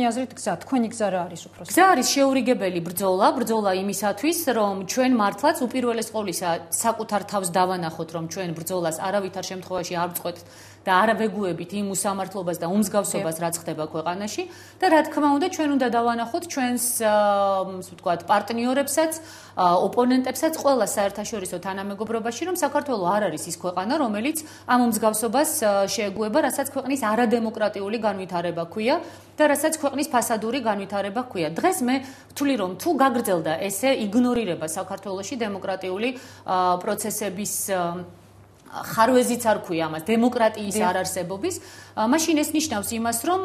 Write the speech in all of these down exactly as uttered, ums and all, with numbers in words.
თქვენი აზრით გზა, თქვენი გზა რა არის უფრო? გზა არის შეურიგებელი ბრძოლა, ბრძოლა იმისათვის, რომ ჩვენ მართლაც უპირველეს ყოვლისა საკუთარ თავს დავანახოთ, რომ ჩვენ ბრძოლას არავითარ შემთხვევაში არ ვწყვეტთ და არ ვეგუებით იმ უსამართლობას და უმსგავსობას, რაც ხდება ქვეყანაში და რა თქმა უნდა, ჩვენ უნდა დავანახოთ ჩვენს, ასე ვთქვათ, პარტნიორებსაც, ოპონენტებსაც ყველა საერთაშორისო თანამეგობრობაში, რომ საქართველო არ არის ის ქვეყანა, რომელიც ამ უმსგავსობას შეეგუება, რასაც ქვეყნის არადემოკრატიული განვითარება ჰქვია და რასაც ქვეყნის ფასადური განვითარება ჰქვია. დღეს მე ვთვლი, რომ თუ გაგრძელდა ესე იგნორირება საქართველოში დემოკრატიული პროცესების ხარვეზიც არ ქვია ამას, დემოკრატიის არარსებობის, მაშინ ეს ნიშნავს იმას, რომ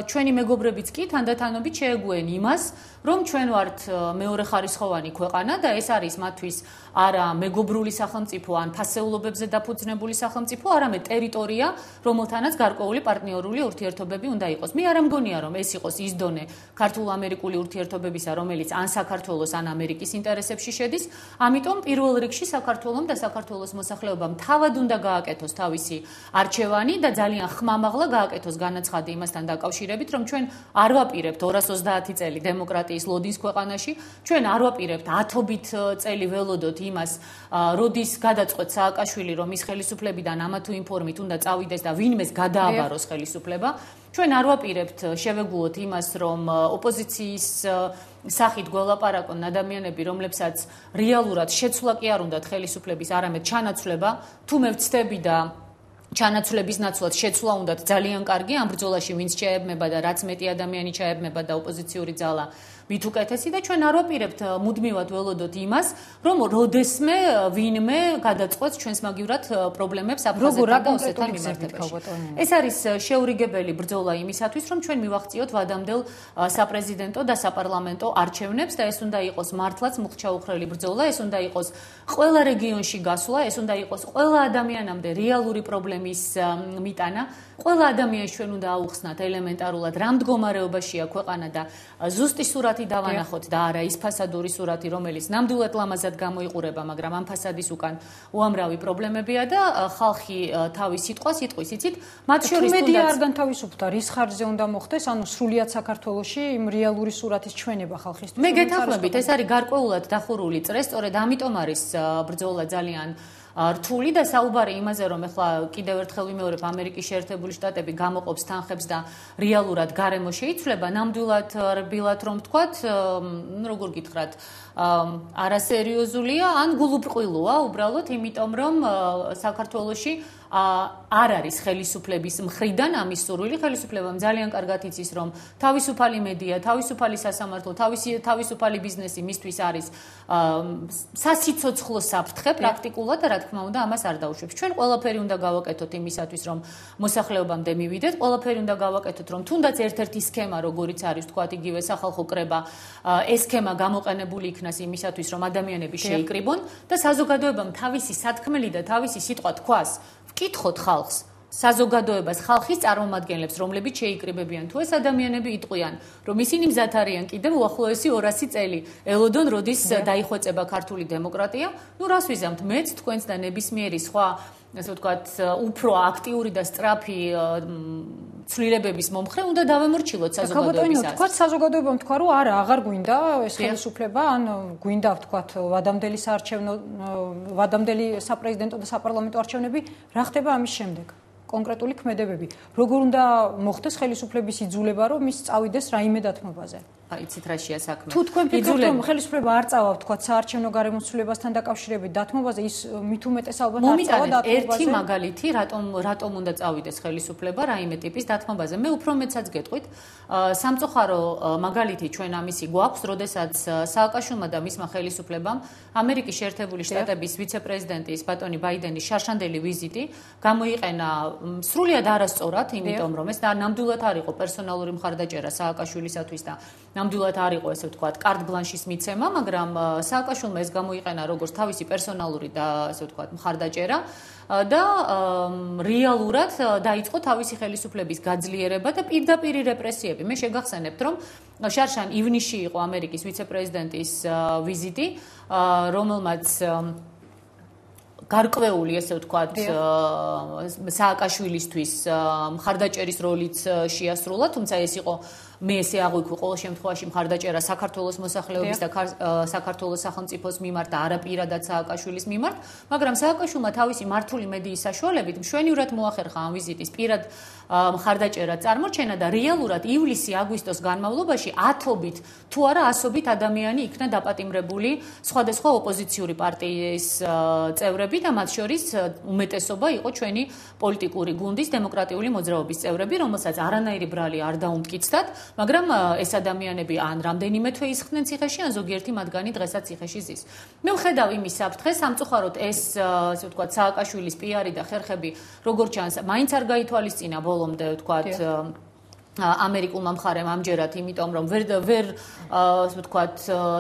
ჩვენი მეგობრებიც კი თანდათანობით შეეგუენ იმას, რომ ჩვენ ვართ მეორეხარისხოვანი ქვეყანა და ეს არის მათთვის არა მეგობრული სახელმწიფო ან ფასეულობებზე დაფუძნებული სახელმწიფო, არამედ ტერიტორია, რომელთანაც გარკვეული პარტნიორული ურთიერთობები უნდა იყოს. მე არ მგონია, რომ ეს იყოს ის დონე ქართულ-ამერიკული ურთიერთობებისა, რომელიც ან საქართველოს, ან ამერიკის ინტერესებში შედის. ამიტომ პირველ რიგში საქართველომ და საქართველოს მოსახლეობამ თავად უნდა გააკეთოს თავისი არჩევანი და ძალიან ხმამაღლა გააკეთოს განაცხადი იმასთან დაკავშირებით, რომ ჩვენ არ ვაპირებთ ორას ოცდაათი წელი დემოკრატიის ლოდის ქვეყანაში, ჩვენ არ ვაპირებთ ათობით წელი ველოდოთ იმას, როდის გადაწყვეტ სააკაშვილი, რომ ის ხელისუფლებიდან ამა თუ იმ ფორმით უნდა წავიდეს და ვინმეს გადააბაროს ხელისუფლება. ჩვენ არ ვაპირებთ შევეგუოთ იმას, რომ ოპოზიციის სახით გველაპარაკონ ადამიანები, რომლებსაც რეალურად შეცვლა კი არ უნდათ ხელისუფლების, არამედ ჩანაცვლება, თუ მე ვცდები და ჩანაცვლების ნაცვლად შეცვლა უნდათ ძალიან კარგი, ამ ბრძოლაში ვინც შეებმება და რაც მეტი ადამიანი ჩაებმება და ოპოზიციური ძალა მით უკეთესი და ჩვენ არ ვაპირებთ მუდმივად ველოდოთ იმას, რომ როდესმე ვინმე გადაწყვეტს ჩვენს მაგივრად პრობლემებს აფხაზეთთან და ოსეთთან მიმართებაში. ეს არის შეურიგებელი ბრძოლა იმისათვის, რომ ჩვენ მივახციოთ ვადამდელ საპრეზიდენტო და საპარლამენტო არჩევნებს და ეს უნდა იყოს მართლაც მუხჩაუხრელი ბრძოლა, ეს უნდა იყოს ყველა რეგიონში გასვლა, ეს უნდა იყოს ყველა ადამიანამდე რეალური პრობლემის მიტანა. ყველა ადამიანს ჩვენ უნდა აუხსნათ ელემენტარულად რა მდგომარეობაშია ქვეყანა და ზუსტი სურათი დავანახოთ და არა ის ფასადური სურათი, რომელიც ნამდვილად ლამაზად გამოიყურება, მაგრამ ამ ფასადის უკან უამრავი პრობლემებია და ხალხი თავის სიტყვას იტყვის, იცით? მათ შორის თუნდაც მედია არ განთავისუფლდა, რის ხარჯზე უნდა მოხდეს, ანუ სრულიად საქართველოში იმ რეალური სურათის ჩვენება ხალხისთვის. მე გეთანხმებით, ეს არის გარკვეულად დახურული წრე, სწორედ ამიტომ არის ბრძოლა ძალიან რთული და საუბარი იმაზე, რომ ეხლა კიდევ ერთხელ ვიმეორებ, ამერიკის შეერთებული შტატები გამოყოფს თანხებს და რეალურად გარემო შეიცვლება, ნამდვილად რბილად რომ ვთქვათ, როგორ გითხრათ, არასერიოზულია ან გულუბრყვილოა უბრალოდ, იმიტომ რომ საქართველოში არ არის ხელისუფლების მხრიდან ამის სურვილი. ხელისუფლებამ ძალიან კარგად იცის, რომ თავისუფალი მედია, თავისუფალი სასამართლო, თავისუფალი ბიზნესი მისთვის არის სასიცოცხლო საფრთხე პრაქტიკულად და რა თქმა უნდა ამას არ დაუშვებს. ჩვენ ყველაფერი უნდა გავაკეთოთ იმისათვის, რომ მოსახლეობამდე მივიდეთ, ყველაფერი უნდა გავაკეთოთ, რომ თუნდაც ერთ-ერთი სქემა, როგორიც არის თქვათ იგივე სახალხო კრება, ეს სქემა გამოყენებული იქნას იმისათვის, რომ ადამიანები შეიკრიბონ და საზოგადოებამ თავისი სათქმელი და თავისი სიტყვა თქვას. ვკითხოთ ხალხს, საზოგადოებას, ხალხის წარმომადგენლებს, რომლებიც შეიკრიბებიან, თუ ეს ადამიანები იტყვიან, რომ ისინი მზად არიან კიდევ უახლოესი ორასი წელი ელოდონ, როდის დაიხვეწება ქართული დემოკრატია, ნუ რას ვიზამთ, მეც, თქვენც და ნებისმიერი სხვა, ასე ვთქვათ, უფრო აქტიური და სწრაფი ცვლილებების მომხრე უნდა დავემორჩილოთ საზოგადოებისას. თქვათ საზოგადოებამ თქვა, რომ არა, აღარ გვინდა ეს ხელისუფლება, ან გვინდა ვთქვათ ვადამდელი საარჩევნო, ვადამდელი საპრეზიდენტო და საპარლამენტო არჩევნები, რა ხდება ამის შემდეგ? კონკრეტული ქმედებები. როგორ უნდა მოხდეს ხელისუფლების იძულება, რომ ის წავიდეს რაიმე დათმობაზე? აი, იცით რაშია საქმე. თუ თქვენ ფიქრობთ, რომ ხელისუფლება არ წავა, ვთქვათ, საარჩევნო გარემოცვლილებასთან დაკავშირებით დათმობაზე, ის მით უმეტეს ალბათ არ წავა დათმობაზე. ერთი მაგალითი, რატომ რატომ უნდა წავიდეს ხელისუფლება რაიმე ტიპის დათმობაზე? მე უფრო მეცაც გეტყვით, სამწუხარო მაგალითი ჩვენ ამისი გვაქვს, როდესაც სააკაშვილმა და მისმა ხელისუფლებამ ამერიკის შეერთებული შტატების ვიცე-პრეზიდენტის ბატონი ბაიდენის შარშანდელი ვიზიტი გამოიყენა სრულიად არასწორად, იმიტომ რომ ეს ნამდვილად არ იყო პერსონალური მხარდაჭერა სააკაშვილისათვის და ნამდვილად არ იყო ესე ვთქვათ კარტ ბლანშის მიცემა, მაგრამ სააკაშვილმა ეს გამოიყენა როგორც თავისი პერსონალური და ესე ვთქვათ მხარდაჭერა და რეალურად დაიწყო თავისი ხელისუფლების გაძლიერება და პირდაპირი რეპრესიები. მე შეგახსენებთ, რომ შარშან ივნისში იყო ამერიკის ვიცე-პრეზიდენტის ვიზიტი, რომელმაც გარკვეული ესე ვთქვათ სააკაშვილისთვის მხარდაჭერის როლიც შეასრულა, თუმცა ეს იყო მე ესე აღვიქვი ყოველ შემთხვევაში მხარდაჭერა საქართველოს მოსახლეობის და საქართველოს სახელმწიფოს მიმართ და არა პირადად სააკაშვილის მიმართ, მაგრამ სააკაშვილმა თავისი მართული მედიის საშუალებით მშვენივრად მოახერხა ამ ვიზიტის პირად მხარდაჭერა წარმოჩენა და რეალურად ივლისი-აგვისტოს განმავლობაში ათობით თუ არა ასობით ადამიანი იქნა დაპატიმრებული სხვადასხვა ოპოზიციური პარტიის წევრები და მათ შორის უმეტესობა იყო ჩვენი პოლიტიკური გუნდის დემოკრატიული მოძრაობის წევრები, რომელსაც არანაირი ბრალი არ დაუმტკიცდათ, მაგრამ ეს ადამიანები ან რამდენიმე თვე ისხდნენ ციხეში, ან ზოგიერთი მათგანი დღესაც ციხეში ზის. მე ვხედავ იმის საფრთხეს, სამწუხაროდ ეს, ასე ვთქვათ, სააკაშვილის პიარი და ხერხები, როგორც ჩანს, მაინც არ გაითვალისწინა ბოლომდე, ვთქვათ, ამერიკულმა მხარემ ამჯერად, იმიტომ რომ ვერ ვერ ასე ვთქვათ,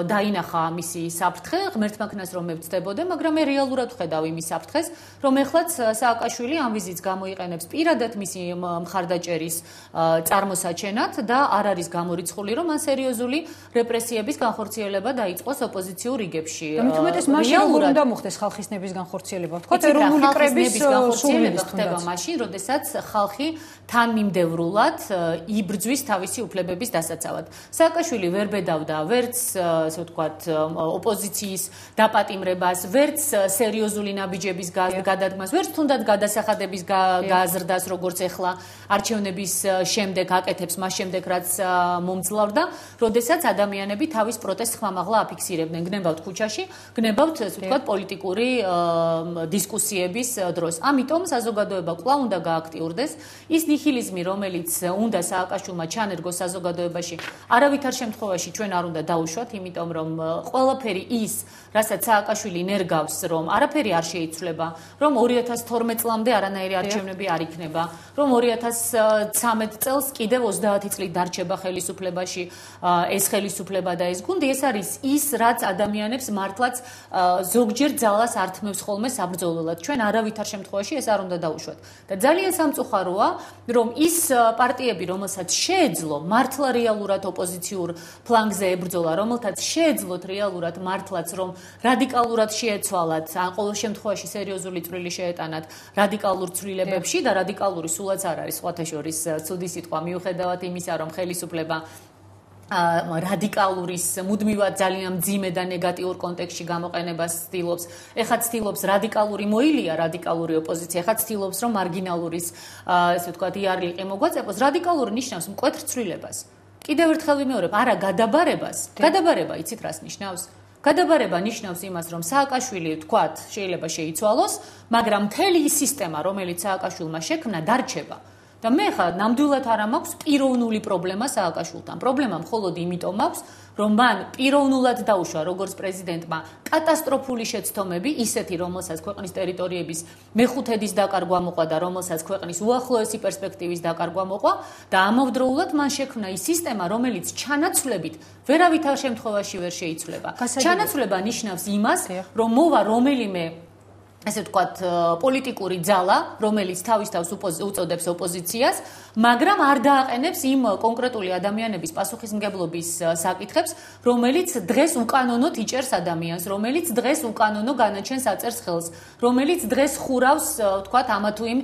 დაინახა მისი საფრთხე, ღმერთმა ქნას რომ მე ვწდებოდე, მაგრამ მე რეალურად ვხედავ იმის საფრთხეს, რომ ეხლაც სააკაშვილი ამ ვიზიტს გამოიყენებს პირადად მისი მხარდაჭერის წარმოსაჩენად და არ არის გამორიცხული, რომ ან სერიოზული რეპრესიების განხორციელება დაიწყოს ოპოზიციურ რიგებში. და მით უმეტეს მაშინ როგორ უნდა მოხდეს ხალხის ნების განხორციელება? ვთქვათ, ეროვნული კრების განხორციელება ხდება მაშინ, როდესაც ხალხი თანმიმდევრულად იბრძვის თავისი უფლებების დასაცავად. სააკაშვილი ვერ ბედავდა ვერც, ასე ვთქვათ, ოპოზიციის დაპატიმრებას, ვერც სერიოზული ნაბიჯების გადადგმას, ვერც თუნდაც გადასახადების გაზრდას, როგორც ახლა არჩევნების შემდეგ აკეთებს, მას შემდეგ რაც მომძლავრდა, როდესაც ადამიანები თავის პროტესტს ხმამაღლა აფიქსირებდნენ, გნებავთ ქუჩაში, გნებავთ, ასე ვთქვათ, პოლიტიკური დისკუსიების დროს. ამიტომ საზოგადოება კვლავ უნდა გააქტიურდეს. ის ნihilizmi, რომელიც უნდა სააკაშვილმა ჩანერგოს საზოგადოებაში, არავითარ შემთხვევაში ჩვენ არ უნდა დაუშვათ, იმიტომ რომ ყველაფერი ის, რასაც სააკაშვილი ნერგავს, რომ არაფერი არ შეიცვლება, რომ ორი ათას თორმეტ წლამდე არანაირი არჩევნები არ იქნება, რომ ორი ათას ცხრამეტ წელს კიდევ ოცდაათი წლით დარჩება ხელისუფლებაში ეს ხელისუფლება და ეს გუნდი, ეს არის ის, რაც ადამიანებს მართლაც ზოგჯერ ძალას ართმევს ხოლმე საბრძოლველად. ჩვენ არავითარ შემთხვევაში ეს არ უნდა დაუშვათ. და ძალიან სამწუხაროა, რომ ის პარტიები, რომელსაც შეეძლო მართლა რეალურად ოპოზიციურ ფლანგზე ებრძოლა, რომელთაც შეეძლოთ რეალურად მართლაც, რომ რადიკალურად შეეცვალათ, ან ყოველ შემთხვევაში სერიოზული წვლილი შეეტანათ რადიკალურ ცვლილებებში და რადიკალური სულაც არ არის სხვათა შორის ცუდი სიტყვა, მიუხედავად იმისა, რომ ხელისუფლება რადიკალურის მუდმივად ძალიან მძიმე და ნეგატიურ კონტექსტში გამოყენებას ცდილობს. ეხლა ცდილობს რადიკალური მოილია რადიკალური ოპოზიცია, ეხლა ცდილობს რომ მარგინალურის, ასე ვთქვათ, იარლიყი მოგვაწეპოს. რადიკალური ნიშნავს მკვეთრ ცვლილებას. კიდევ ერთხელ ვიმეორებ, არა გადაბარებას. გადაბარება იცით რას ნიშნავს? გადაბარება ნიშნავს იმას, რომ სააკაშვილი, ვთქვათ, შეიძლება შეიცვალოს, მაგრამ მთელი ის სისტემა, რომელიც სააკაშვილმა შექმნა, დარჩება. და მე ხა ნამდვილად არ მაქვს პიროვნული პრობლემა სააკაშვილთან. პრობლემა მხოლოდ იმიტომ მაქვს, რომ მან პიროვნულად დაუშვა როგორც პრეზიდენტმა კატასტროფული შეცდომები, ისეთი, რომელსაც ქვეყნის ტერიტორიების მეხუთედის დაკარგვა მოყვა და რომელსაც ქვეყნის უახლოესი პერსპექტივის დაკარგვა მოყვა და ამავდროულად მან შექმნა ის სისტემა, რომელიც ჩანაცვლებით ვერავითარ შემთხვევაში ვერ შეიცვლება. ჩანაცვლება ნიშნავს იმას, რომ მოვა რომელიმე ესე ვთქვათ, პოლიტიკური ძალა, რომელიც თავის თავს უწოდებს ოპოზიციას, მაგრამ არ დააყენებს იმ კონკრეტული ადამიანების პასუხისმგებლობის საკითხებს, რომელიც დღეს უკანონოდ იჭერს ადამიანს, რომელიც დღეს უკანონო განაჩენს აწერს ხელს, რომელიც დღეს ხურავს, ვთქვათ, ამა თუ იმ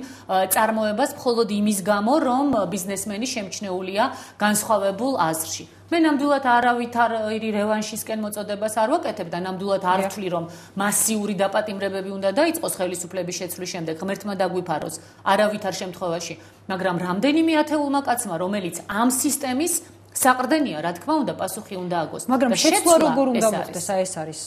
წარმოებას მხოლოდ იმის გამო, რომ ბიზნესმენი შემჩნეულია განსხვავებულ აზრში. მე ნამდვილად არავითარი რევანშისკენ მოწოდებას არ ვაკეთებ და ნამდვილად არ ვთვლი, რომ მასიური დაპატიმრებები უნდა დაიწყოს ხელისუფლების შეცვლის შემდეგ, ღმერთმა დაგვიფაროს, არავითარ შემთხვევაში, მაგრამ რამდენიმე ათეულმა კაცმა, რომელიც ამ სისტემის საყრდენია, რა თქმა უნდა, პასუხი უნდა აგოს. მაგრამ შეცვლა როგორ უნდა მოხდეს, ეს არის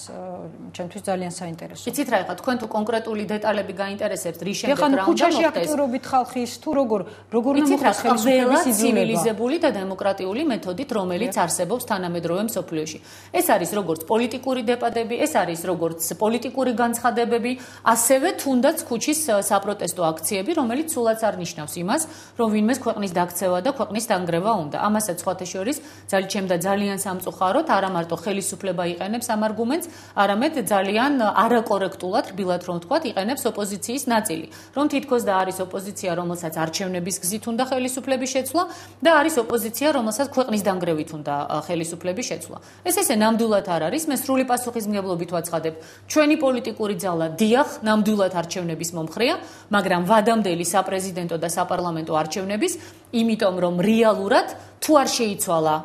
ჩემთვის ძალიან საინტერესო. იცით რა, ეხლა თქვენ თუ კონკრეტული დეტალები გაინტერესებთ, რის შემდეგ რა უნდა მოხდეს? ქუჩაში აქტიურობით ხალხის თუ როგორ როგორ უნდა მოხდეს ხელისუფლების იზოლება? ცივილიზებული და დემოკრატიული მეთოდით, რომელიც არსებობს თანამედროვე მსოფლიოში. ეს არის როგორც პოლიტიკური დეპატები, ეს არის როგორც პოლიტიკური განცხადებები, ასევე თუნდაც ქუჩის საპროტესტო აქციები, რომელიც სულაც არ ნიშნავს იმას, რომ ვინმეს ქვეყნის დაქცევა და ქვეყნის დანგრევა უნდა. ამასაც სხვათა შორის ძალიან და ძალიან სამწუხაროდ არა მარტო ხელისუფლება იყენებს ამ არგუმენტს, არამედ ძალიან არაკორექტულად, რბილად რომ ვთქვათ, იყენებს ოპოზიციის ნაწილი. რომ თითქოს და არის ოპოზიცია, რომელსაც არჩევნების გზით უნდა ხელისუფლების შეცვლა და არის ოპოზიცია, რომელსაც ქვეყნის დანგრევით უნდა ხელისუფლების შეცვლა. ეს ესე ნამდვილად არ არის, მე სრული პასუხისმგებლობით ვაცხადებ. ჩვენი პოლიტიკური ძალა დიახ, ნამდვილად არჩევნების მომხრეა, მაგრამ ვადამდელი საპრეზიდენტო და საპარლამენტო არჩევნების იმიტომ რომ რეალურად თუ არ შეიცვალა